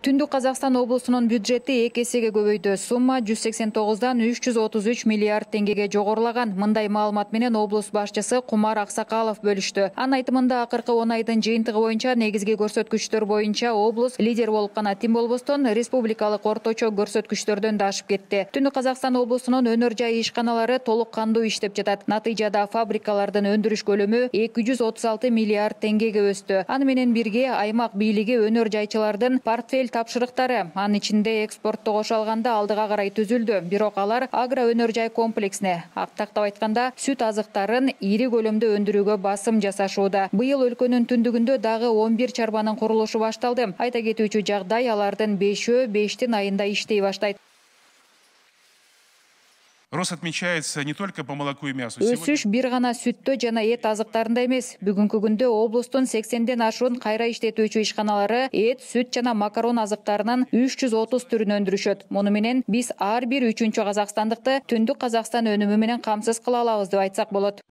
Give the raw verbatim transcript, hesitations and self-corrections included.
Түндүк Казакстан облусунун бюджети эки эсеге көбөйдү. Сумма жүз сексен тогуздан үч жүз отуз үч миллиард теңгеге жогорулаган. Мындай маалымат менен облус башчысы Кумар Аксакалов бөлүштү. Анын айтымында акыркы он айдын жыйынтыгы боюнча негизги көрсөткүчтөр боюнча облус лидер болуп гана тим болбостон, республикалык орточо көрсөткүчтөрдөн да ашып кетти. Түндүк Казакстан облусунун өнөр жай ишканалары толук кандуу иштеп жатат. Натыйжада фабрикалардын өндүрүш көлөмү эки жүз отуз алты миллиард теңгеге өстү. Аны менен бирге аймак бийлиги өнөр жайчылардын портфель тапшырыктары, анын ичинде экспортто кошо алганда алдыга карай түзүлдү. Бирок алар агро өнөр жай комплексине, тактап айтканда сүт азыктарын ири көлөмдө өндүрүүгө басым жасашууда. Быйыл өлкөнүн түндүгүндө дагы он бир чарбанын курулушу башталды. Айта кетүүчү жагдай, алардын бешөө бештин айында иштей баштайт. Рост отмечается не только по молоку и мясу. Өсүш бир гана сүттө жана эт азыктарында эмес. Бүгүнкү күндө облустун сексенден ашуун кайра иштетүүчү ишканалары эт, сүт жана макарон азыктарынын үч жүз отуз түрүн өндүрүшөт. Муну менен биз ар бир үчүнчү казакстандыкты Түндүк Казакстан өнүмү менен камсыз кыла алабыз деп айтсак болот.